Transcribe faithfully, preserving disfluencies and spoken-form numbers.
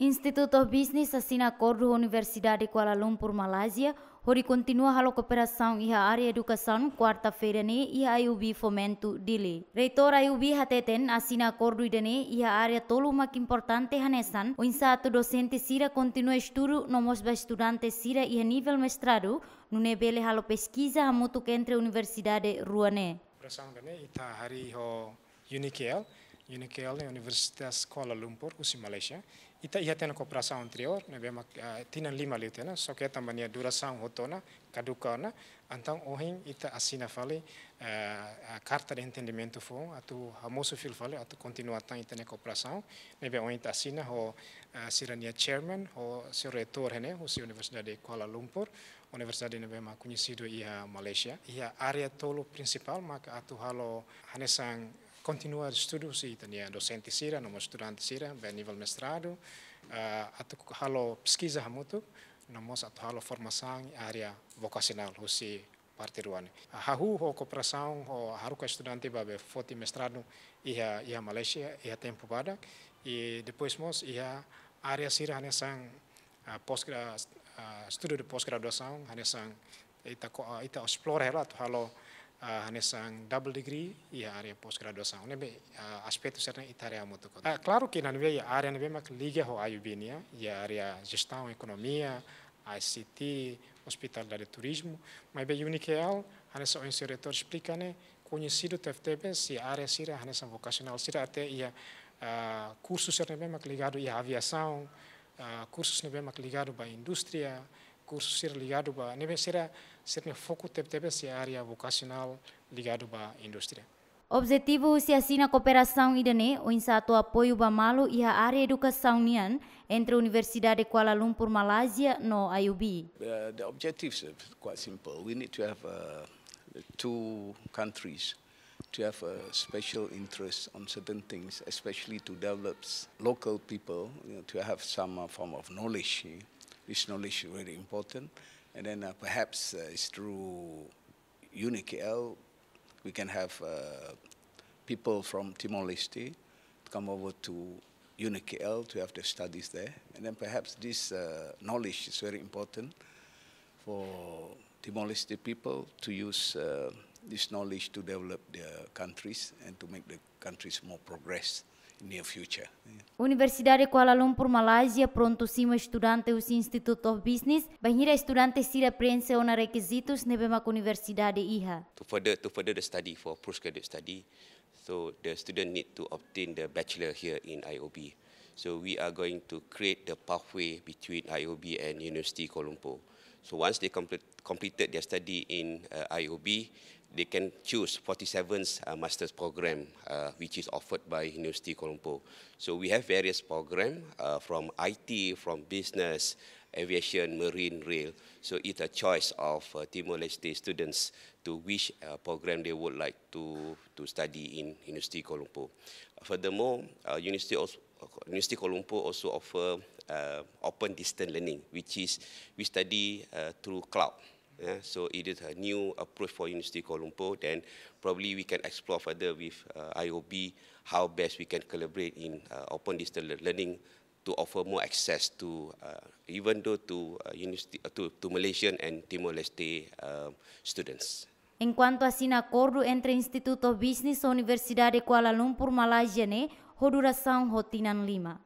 Institute of Business asina akordu ho Universidade Kuala Lumpur, Malázia, hodi kontinua halo kooperasaun iha área edukasaun, kuarta-feira ne'e iha I U B Fomento, Dili. Reitór I U B hateten asina akordu ida-ne'e iha área tolu mak importante hanesan, oinsá atu dosente sira kontinua estudu no mós ba estudante sira iha nivel mestradu, nune'e bele halo peskiza hamutuk entre universidade rua ne'e. Kooperasaun ida-ne'e ita harii ho UNIKL, UNIKL ne'e Universitas Kuala Lumpur, husi Malaysia. Ita iha tiha ona kooperasaun anteriór, ne'ebé mak, ah, tinan lima liu tiha ona, só ke tanba nia durasaun hotu ona, kaduka ona, entaun ohin ita asina fali, eh, ah, karta de entendimentu foun, atu hamosu fila fali, atu kontinua tan ita-nia kooperasaun, ne'ebé ohin ita asina ho, eh, sira-nia chairman, ho señór reitór ne'e, husi Universidade Kuala Lumpur, universidade ne'ebé mak koñesidu iha Malaysia. Iha área tolu prinsipál, maka atu halo hanesan kontinua estudu husi ita-nia dosente sira, no mós estudante sira, ba nivel mestradu, ah, atu halo peskiza hamutuk, no mós atu halo formasaun área vokasionál husi parte rua ne'e. Hahú ho kooperasaun ho haruka estudante ba be foti mestradu iha, iha Malaysia, iha tempu badak, i depois mós iha área sira hanesan, ah, pós-gra-, ah, estudu de pós-graduasaun, hanesan ita ko-, ah, ita esplora hela atu halo, ah, hanesan double degree iha área pós-graduasaun. Ne'ebé, ah, aspetu sira-ne'e ita haree hamutuk. Ah, klaru ke iha ne'ebé área ne'ebé mak liga ho I U B nian, iha área jestaun ekonomia, I C T, ospitalidade, turizmu, maibé UNIKL, hanesan ohin señór reitór esplika ne'e, koñesidu tebetebes iha área sira hanesan vokasionál sira até iha, ah, kursu sira ne'ebé mak ligadu iha aviasaun, ah, kursu ne'ebé mak ligadu ba indústria, kursu sira ligadu ba, ne'ebé sira, sira-nia foku tebetebes iha área vokasionál ligadu ba indústria. Objetivu husi asina kooperasaun ida-ne'e, oinsá atu apoiu ba malu iha área edukasaun nian, entre Universidade Kuala Lumpur, Malázia, no I U B. Uh, the objectives are quite simple. We need to have, uh, the two countries to have a special interest on certain things, especially to develop s-, local people, you know, to have some, uh, form of knowledge. Eh? This knowledge is really important. And then, uh, perhaps, uh, it's through UNIKL, we can have, uh, people from Timor-Leste to come over to UNIKL to have their studies there. And then perhaps this, uh, knowledge is very important for Timor-Leste people to use, uh, this knowledge to develop their countries and to make the countries more progress in near future. Yeah. Universidade Kuala Lumpur, Malázia, prontu simu estudante husi Institute of Business, bainhira estudante sira preenxe ona rekizitus ne'ebé mak universidade iha. To further, to further the study for postgraduate study, so the student need to obtain the bachelor here in I O B. So we are going to create the pathway between I O B and University Kuala Lumpur. So once they complete, completed their study in, uh, I O B, they can choose forty-seventh, uh, master's program, uh, which is offered by University Kuala Lumpur. So we have various program, uh, from I T, from business, aviation, marine, rail. So it's a choice of, uh, Timor-Leste students to which, uh, program they would like to, to study in University Kuala Lumpur. Furthermore, uh, University also, University Kuala Lumpur also offer, uh, open distance learning, which is we study, uh, through cloud. Yeah, so it is a new approach for University Kuala Lumpur. Then probably we can explore further with, uh, I O B how best we can collaborate in, uh, open distance le-, learning to offer more access to, uh, even though to, uh, university, uh, to, to Malaysian and Timor-Leste, uh, students. Enkuantu asina akordu entre Institute of Business ho Universidade Kuala Lumpur, Malázia ne'e, ho durasaun ho tinan lima.